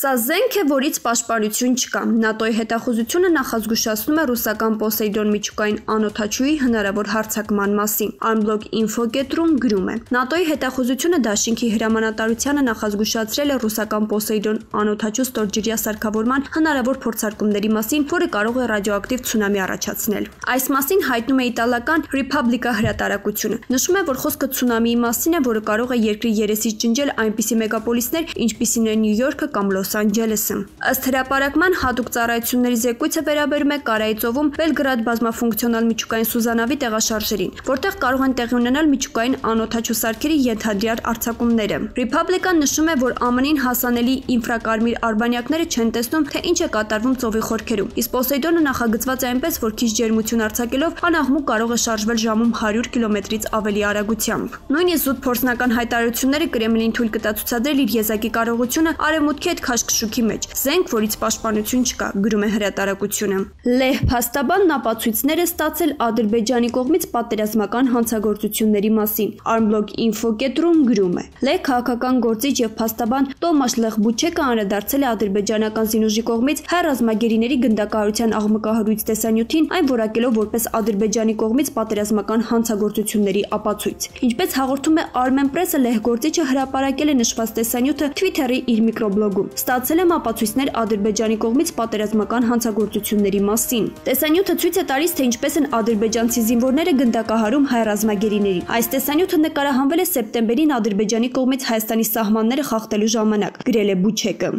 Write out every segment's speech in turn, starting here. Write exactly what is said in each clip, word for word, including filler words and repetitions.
Սա զենք է, որից պաշտպանություն չկա։ ՆԱՏՕ-ի հետախուզությունը նախազգուշացնում է ռուսական Պոսեյդոն միջուկային անօդաչուի հնարավոր հարձակման մասին։ Armblog Info կետրում գրում է. ՆԱՏՕ-ի հետախուզությունը դաշինքի հրամանատարությանը նախազգուշացրել է ռուսական Պոսեյդոն անօդաչու ստորջրյա սարքավորման հնարավոր փորձարկումների մասին, որը կարող է ռադիոակտիվ ցունամի առաջացնել։ Այս մասին հայտնում է իտալական Repubblica հրատարակությունը։ Նշում է, որ խոսքը ցունամիի մասին է, որը կարող է երկրի երեսից ջնջել այնպիսի մեգապոլիսներ, ինչպիսին է Նյու Յորքը կամ Լոս Անջելեսը։ Ըստ հրապարակման հատուկ ծառայությունների զեկույցը վերաբերում է Կարայի ծովում Բելգրադ բազմաֆունկցիոնալ միջուկային սուզանավի տեղաշարժերին, որտեղ կարող են տեղի ունենալ միջուկային անօդաչու սարքերի ենթադրյալ արձակումները։ Repubblica-ն նշում է, որ ԱՄՆ-ին հասանելի ինֆրակարմիր արբանյակները չեն տեսնում, թե ինչ է կատարվում ծովի խորքերում, իսկ Պոսեյդոնը նախագծված է այնպես, որ քիչ ջերմություն արձակելով անաղմուկ կարող է շարժվել ժամում հարյուր կիլոմետրից ավելի արագությամբ։ Նույնիսկ զուտ փորձնական հայտարարությունները Կրեմլին թույլ կտա ցուցադրել իր եզակի կարողությունը արևմուտքի հետ քաշքշուկի մեջ, զենք, որից պաշտպանություն չկա, գրում է հրատարակությունը։ Լեհ փաստաբանն ապացույցներ է ստացել Ադրբեջանի կողմից պատերազմական հանցագործությունների մասին։ Armblog Info կետրում գրում է. Լեհ քաղաքական գործիչ եւ փաստաբան Տոմաշ Լեխբուչեկը անդրադարձել է ադրբեջանական զինուժի կողմից հայ ռազմագերիների գնդակահարության աղմկահարույց տեսանյութին, այն որակելով որպես Ադրբեջանի կողմից պատերազմական հանցագործությունների ապացույց։ Ինչպես հաղորդում է Armen Press-ը, լեհ գործիչը հրապարակել է նշված տեսանյութը Twitter-ի իր միկրոբլոգում։ Ստացել եմ ապացույցներ Ադրբեջանի կողմից պատերազմական հանցագործությունների մասին։ Տեսանյութը ցույց է տալիս, թե ինչպես են ադրբեջանցի զինվորները գնդակահարում հայ ռազմագերիներին։ Այս տեսանյութը նկարահանվել է սեպտեմբերին Ադրբեջանի կողմից Հայաստանի սահմանները խախտելու ժամանակ, գրել է Բուչեկը։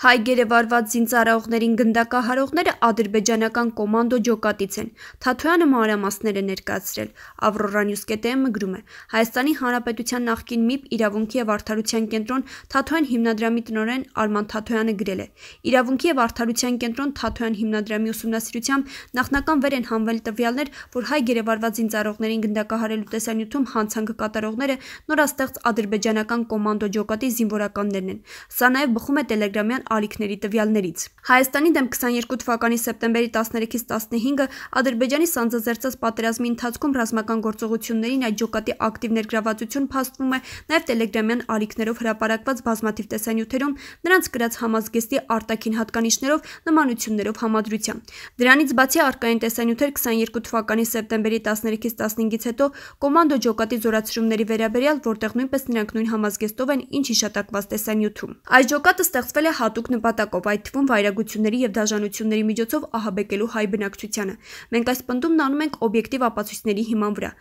Հայ գերեվարված զինծառայողներին գնդակահարողները ադրբեջանական կոմանդո ջոկատից են։ Թաթոյանը մանրամասներ է ներկայացրել։ Avrora News.am-ը գրում է. Հայաստանի Հանրապետության նախկին ՄԻՊ Իրավունքի եւ Արդարության կենտրոն Թաթոյան հիմնադրամի տնօրեն Արման Թաթոյանը գրել է. Իրավունքի եւ Արդարության կենտրոն Թաթոյան հիմնադրամի ուսումնասիրությամբ նախնական վեր են հանվել տվյալներ, որ հայ գերեվարված զինծառայողներին գնդակահարելու տեսանյութում հանցանք կատարողները նորաստեղծ ադրբեջանական կոմանդո ջոկատի զինվորականներն են։ Սա նաեւ բխում է Տելեգրամյան ալիքների տվյալներից։ Հայաստանի դեմ քսաներկու թվականի սեպտեմբերի տասներեքից տասնհինգը Ադրբեջանի սանձազերծած պատերազմի ընթացքում ռազմական գործողություններին այդ ջոկատի ակտիվ ներգրավվածություն փաստվում է նաև Տելեգրամյան ալիքներով հրապարակված բազմաթիվ տեսանյութերում, նրանց գրած համազգեստի արտաքին հատկանիշներով, նմանություններով համադրությամբ։ Դրանից բացի արկային տեսանյութեր քսաներկու թվականի սեպտեմբերի տասներեքից տասնհինգից հետո կոմանդո ջոկատի զորացրումների վերաբերյալ, որտեղ նույնպես նրանք նույն համազգեստով են, ինչ հիշատակված տեսանյութում։ Այս ջոկատը ստեղծվել է հատուկ նպատակով, այդ թվում վայրագությունների եւ դաժանությունների միջոցով ահաբեկելու հայ բնակչությանը։ Մենք այս պնդումն անում ենք օբյեկտիվ ապացույցների հիման վրա։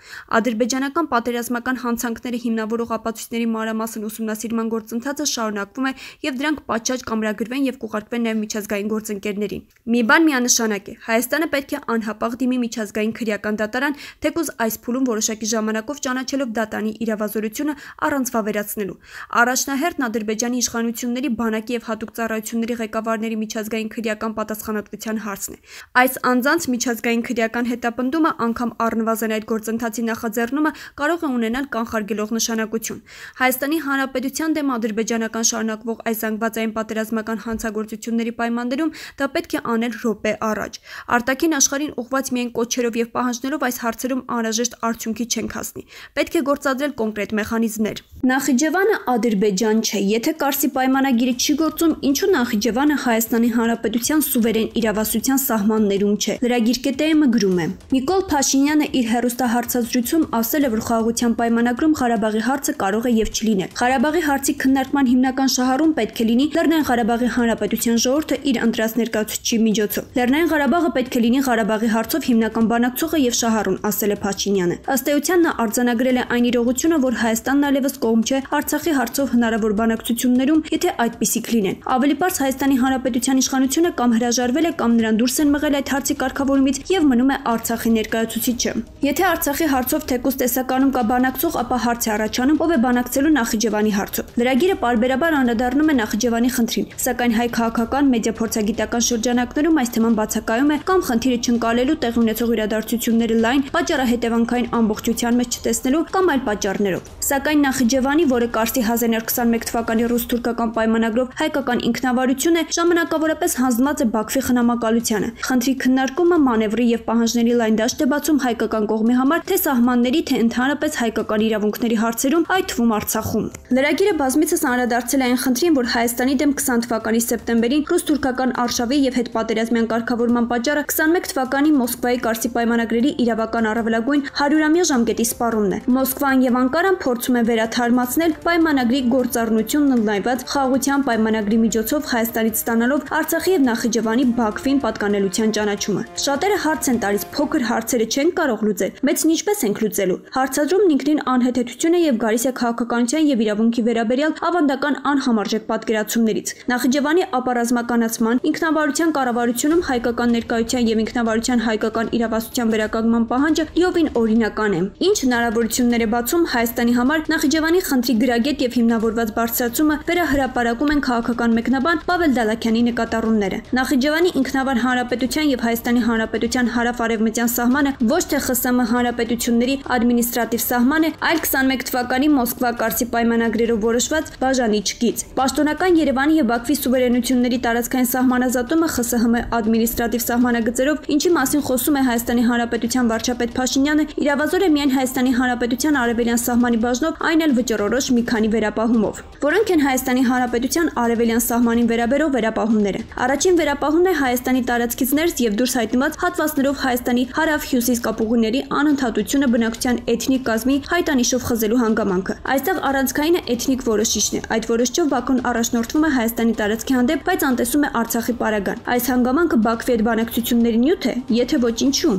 Ադրբեջանական պատերազմական հանցանքները հիմնավորող ապացույցների մանրամասն ուսումնասիրման գործընթացը շարունակվում է եւ դրանք պատշաճ կամրագրվեն եւ կուղարկվեն նաեւ միջազգային գործընկերներին։ Մի բան միանշանակ է. Հայաստանը պետք է անհապաղ դիմի միջազգային քրեական դատարան, թեկուզ այս փուլում որոշակի ժամանակով ճանաչելով դատանի իրավազորությունը առանց վավերացնելու։ Առաջնահերթն Ադրբեջանի իշխանությունների բանակի եւ հատուկ ծառայությունների ղեկավարների միջազգային քրեական պատասխանատվության հարցն է։ Այս անձանց միջազգային քրեական հետապնդումը անգամ առնվազն այդ գործընթացի նախաձեռնումը կարող է ունենալ կանխարգելող նշանակություն։ Հայաստանի Հանրապետության դեմ ադրբեջանական շարունակվող այս զանգվածային պատերազմական հանցագործությունների պայմաններում դա պետք է անել րոպե առաջ։ Արտաքին աշխարհին ուղղված միայն կոչերով եւ պահանջներով այս հարցերում անհրաժեշտ արդյունքի չենք հասնի։ Պետք է գործադրել կոնկրետ մեխանիզմներ։ Նախիջևանը Ադրբեջան չէ, եթե Կարսի պայմանագիրը չի գործում, ինչու Նախիջևանը Հայաստանի Հանրապետության սուվերեն իրավասության սահմաններում չէ։ Լրագիր.am-ը գրում է. Նիկոլ Փաշինյանը իր հեռուստահարցազրույցում ասել է, որ խաղաղության պայմանագրում Ղարաբաղի հարցը կարող է եւ չլինել։ Ղարաբաղի հարցի քննարկման հիմնական շահառուն պետք է լինի Լեռնային Ղարաբաղի Հանրապետության ժողովուրդը իր ընտրած ներկայացուցչի միջոցով։ Լեռնային Ղարաբաղը պետք է լինի Ղարաբաղի հարցով հիմնական բանակցողը եւ շահառուն, ասել է Փաշինյանը։ Ըստ էության նա արձանագրել է այն իրողությունը, որ Հայաստանն այլևս կողմ չէ Արցախի հարցով հնարավոր բանակցություններում, եթե այդպիսիք լինեն։ Ավելի պարզ Հայաստանի Հանրապետության իշխանությունը կամ հրաժարվել է կամ նրան դուրս են մղել այդ հարցի կարգավորումից եւ մնում է Արցախի ներկայացուցիչը։ Եթե Արցախի հարցով թեկուզ տեսականում կա բանակցող, ապա հարց է առաջանում, ով է բանակցելու Նախիջևանի հարցով։ Լրագիրը պարբերաբար անդրադառնում է Նախիջևանի խնդրին, սակայն հայ քաղաքական մեդիա փորձագիտական շրջանակներում այս թեման բացակայում է կամ խնդիրը չընկալելու, տեղի ունեցող իրադարձությունները լայն, պատճառահետևանքային ամբողջության մեջ չտեսնելու կամ այլ պատճառներով։ Սակայն Նախիջևանի, որը Կարսի հազար իննսուն քսաներկու թվականի ռուս-թուրքական պայմանագրով հայկական ինքնավարությունը ժամանակավորապես հանձնված է Բաքվի խնամակալությանը։ Խնդրի քննարկումը մանևրի եւ պահանջների լայն դաշտ է բացում հայկական կողմի համար թե սահմանների, թե ընդհանրապես հայկական իրավունքների հարցերում, այդ թվում Արցախում։ Լրագիրը բազմիցս անդրադարձել է այն խնդրին, որ Հայաստանի դեմ քսան թվականի սեպտեմբերին ռուս-թուրքական արշավի եւ հետպատերազմյան կարգավորման պատճառը քսանմեկ թվականի Մոսկվայի Կարսի պայմանագրերի իրավական առավելագույն հարյուրամյա ժամկետի սպառումն է։ Մոսկվան եւ Անկարան փորձում են վերաթարմացնել պայմանագրի գործառնությունն ընդլայնված խաղաղության պայմանագրի միջոցով Հայաստանից ստանալով Արցախի եւ Նախիջևանի Բաքվին պատկանելության ճանաչումը։ Շատերը հարց են տալիս, փոքր հարցերը չեն կարող լուծել, մեծն ինչպես ենք լուծելու։ Հարցադրումն ինքնին անհեթեթություն է եւ գալիս է քաղաքականության եւ իրավունքի վերաբերյալ ավանդական անհամարժեք պատկերացումներից։ Նախիջևանի ապառազմականացման, ինքնավարության կառավարությունում հայկական ներկայության եւ ինքնավարության հայկական իրավասության վերականգնման պահանջը լիովին օրինական է։ Ինչ հնարավորություններ է բացում Հայաստանի համար Նախիջևանի խնդրի գրագետ եւ հիմնավորված բարձրացումը վերահրապարակում են քաղաքական մեկնաբան Պավել Դալաքյանի նկատառումները։ Նախիջևանի ինքնավար հանրապետության եւ Հայաստանի հանրապետության հարավ-արևմտյան սահմանը ոչ թե ԽՍՀՄ հանրապետությունների ադմինիստրատիվ սահման է, այլ քսանմեկ թվականի Մոսկվա Կարսի պայմանագրերով որոշված բաժանիչ գիծ։ Պաշտոնական Երևանի եւ Բաքվի սուվերենությունների տարածքային սահմանազատումը ԽՍՀՄ ադմինիստրատիվ սահմանագծերով, ինչի մասին խոսում է Հայաստանի հանրապետության վարչապետ Փաշինյանը, իրավազոր է միայն Հայաստանի հանրապետության արևելյան սահմանի բաժնով, այն էլ վճռորոշ մի քանի վերապահումով, որոնք են Հայաստանի հանրապետության արևելյան սահմանին վերաբերող վերապահումները։ Առաջին վերապահումն է Հայաստանի տարածքից ներս եւ դուրս հայտնված հատվածներով Հայաստանի հարավ-հյուսիս կապուղիների անընդհատությունը բնակչության էթնիկ կազմի հայտանիշով խզելու հանգամանքը։ Այստեղ առանցքայինը էթնիկ որոշիչն է։ Այդ որոշչով Բաքուն առաջնորդվում է Հայաստանի տարածքի հանդեպ, բայց անտեսում է Արցախի պարագան։ Այս հանգամանքը Բաքվի հետ բանակցությունների նյութ է, եթե ոչ ինչու։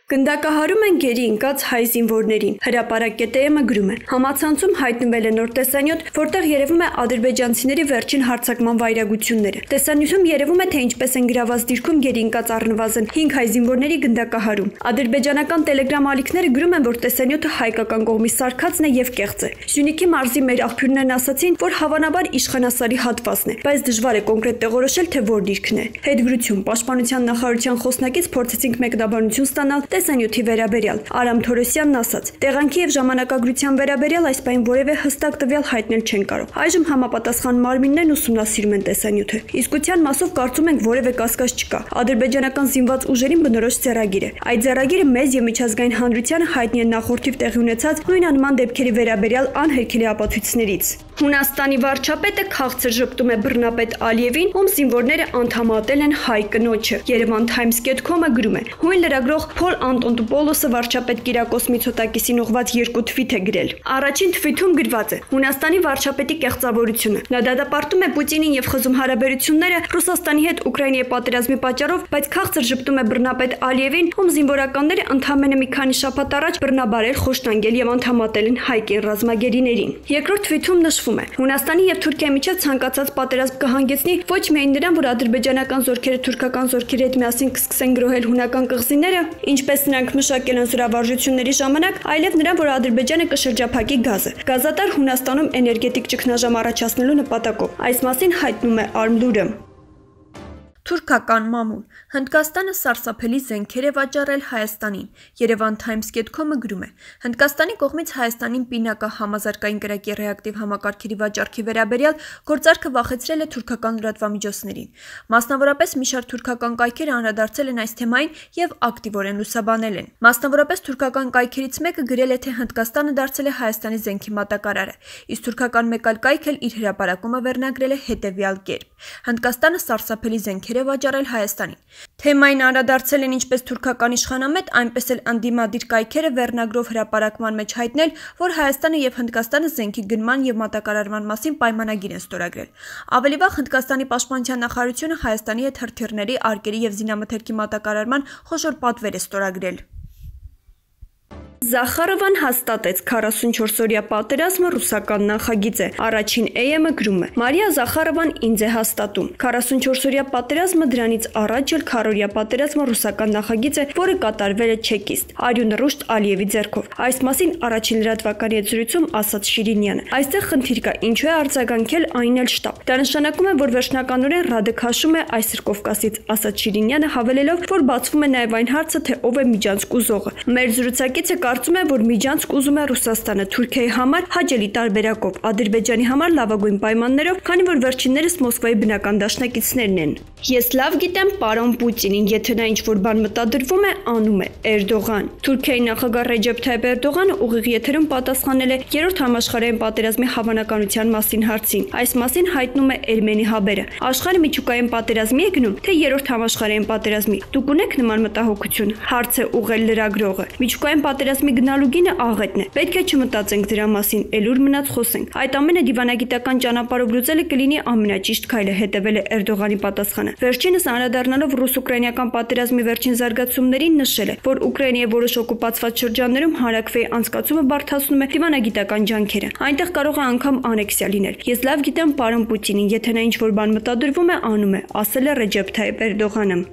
Գնդակահարում են գերի ընկած հայ զինվորներին։ Հրապարակ կետը գրում է. Համացանցում հայտնվել է նոր տեսանյութ, որտեղ երևում է ադրբեջանցիների վերջին հարձակման վայրագությունները։ Տեսանյութում երևում է, թե ինչպես են գրաված դիրքում գերի ընկած առնվազն հինգ հայ զինվորների գնդակահարում։ Ադրբեջանական տելեգրամ ալիքները գրում են, որ տեսանյութը հայկական կողմի սարքածն է եւ կեղծ է։ Սյունիքի մարզի մեր աղբյուրներն ասացին, որ հավանաբար իշխանասարի հատվածն է, բայց դժվար է կոնկրետ տեղորոշել, թե որ դիրքն է։ Հետգրություն Պաշտպանության նախարարության խոսնակից փորձեցինք մեկնաբանություն ստանալ տեսանյութի վերաբերյալ։ Արամ Թորոսյանն ասաց. տեղանքի եւ ժամանակագրության վերաբերյալ այս պայն որևէ հստակ տվյալ հայտնել չեն կարող։ Այժմ համապատասխան մարմիններն ուսումնասիրում են տեսանյութը։ Իսկության մասով կարծում ենք որևէ կասկած չկա։ Ադրբեջանական զինված ուժերին բնորոշ ձեռագիր է։ Այդ ձեռագիրը մեծ եւ միջազգային հանրությանը հայտնի է նախորդիվ տեղի ունեցած նույն անման դեպքերի վերաբերյալ անհերքելի ապացույցներից։ Հունաստանի վարչապետը քաղցր ժպտում է բռնապետ Ալիևին, ում զինվորները անդամատել են հայ կնոջը։ Երևան Times dot com-ը գրում է. Հույն լրագրող Փոլ Անտոնտոպոլոսը վարչապետ Կիրակոս Միցոտակիսին ուղղված երկու թվիթ է գրել։ Առաջին թվիթում գրված է. Հունաստանի վարչապետի կեղծավորությունը։ Նա դատապարտում է Պուտինին եւ խզում հարաբերությունները Ռուսաստանի հետ Ուկրաինայի պատերազմի պատճառով, բայց քաղցր ժպտում է բռնապետ Ալիևին, ում զինվորականները ընդամենը մի քանի շաբաթ առաջ բռնաբարել, խոշտանգել եւ անդամատել են հայկին ռազմագերիներին։ Երկրորդ թվիթում նշվում է. Հունաստանի եւ Թուրքիայի միջեւ ցանկացած պատերազմ կհանգեցնի ոչ միայն նրան, որ ադրբեջանական զորքերը թուրքական զորքերի հետ միասին կսկսեն գրոհել հունական կղզիները, ինչպես նրանք մշակել են զորավարժությունների ժամանակ, այլև նրան, որ Ադրբեջանը կշրջափակի գազը։ Գազատար Հունաստանում էներգետիկ ճգնաժամ առաջացնելու նպատակով։ Այս մասին հայտնում է Արմլուրը։ Թուրքական մամուլ Հնդկաստանը սարսափելի զենքեր է վաճառել Հայաստանին։ Երևան Times dot com-ը գրում է. Հնդկաստանի կողմից Հայաստանին պինակա համազարգային կրակի ռեակտիվ համակարգերի վաճառքի վերաբերյալ գործարքը վախեցրել է թուրքական լրատվամիջոցներին։ Մասնավորապես մի շարք թուրքական կայքեր անդրադարձել են այս թեմային եւ ակտիվորեն լուսաբանել են։ Մասնավորապես թուրքական կայքերից մեկը գրել է, թե Հնդկաստանը դարձել է Հայաստանի զենքի մատակարարը, իսկ թուրքական մեկ այլ կայք էլ իր հրապարակումը վերնագրել է հետեւյալ կերպ. Հնդկաստանը սարսափելի զենքեր է վաճառել Հայաստանին։ Թեմային անդրադարձել են ինչպես թուրքական իշխանամետ, այնպես էլ անդիմադիր կայքերը վերնագրով հրապարակման մեջ հայտնել, որ Հայաստանը եւ Հնդկաստանը զենքի գնման եւ մատակարարման մասին պայմանագիր են ստորագրել։ Ավելի վաղ Հնդկաստանի պաշտպանության նախարարությունը Հայաստանի հետ հրթիռների, արկերի եւ զինամթերքի մատակարարման խոշոր պատվեր է ստորագրել։ Զախարովան հաստատեց քառասունչորսօրյա պատերազմը ռուսական նախագիծ է։ Առաջին էյ-ը գրում է. Մարիա Զախարովան ինձ է հաստատում։ քառասունչորսօրյա պատերազմը դրանից առաջ էլ քառօրյա պատերազմը ռուսական նախագիծ է, որը կատարվել է չեկիստ Արյուն Ռուշտ Ալիևի ձեռքով։ Այս մասին առաջին լրատվականի հետ զրույցում ասաց Շիրինյանը։ Այստեղ խնդիր կա, ինչու է արձագանքել այն էլ շտապ։ Դա նշանակում է, որ վերջնականորեն Ռադը քաշում է այսր Կովկասից, ասաց Շիրինյանը, հավելելով, որ բացվում է նաև այն հարցը, թե ով է միջանցք ուզողը։ Մեր զրուցակիցը կարծում է, որ միջանցք ուզում է Ռուսաստանը Թուրքիայի համար հաճելի տարբերակով, Ադրբեջանի համար լավագույն պայմաններով, քանի որ վերջիններս Մոսկվայի բնական դաշնակիցներն են։ Ես լավ գիտեմ պարոն Պուտինին, եթե նա ինչ-որ բան մտադրվում է, անում է Էրդողան։ Թուրքիայի նախագահ Ռեջեփ Թայիփ Էրդողանը ուղիղ եթերում պատասխանել է երրորդ համաշխարհային պատերազմի հավանականության մասին հարցին։ Այս մասին հայտնում է Էրմենի Հաբերը։ Աշխարհը միջուկային պատերազմի է գնում, թե երրորդ համաշխարհային պատերազմի։ Դուք ունեք նման մտահոգություն։ Հարց է ուղղել լրագրողը։ Միջուկային պատերազմի գնալու գինը աղետն է։ Պետք է չմտածենք դրա մասին, ելուր մնաց խոսենք։ Այդ ամենը դիվանագիտական ճանապարհով լուծելը կլինի ամենաճիշտ քայլը, հետևել է Էրդողանի պատասխանը։ Վերջինս անդրադառնալով ռուս-ուկրաինական պատերազմի վերջին զարգացումներին նշել է, որ Ուկրաինայի որոշ օկուպացված շրջաններում հանրաքվեի անցկացումը բարդացնում է դիվանագիտական ջանքերը։ Այնտեղ կարող է անգամ անեքսիա լինել։ Ես լավ գիտեմ պարոն Պուտինին, եթե նա ինչ-որ բան մտադրվում է, անում է, ասել է Ռեջեփ Թայիփ Էրդողանը։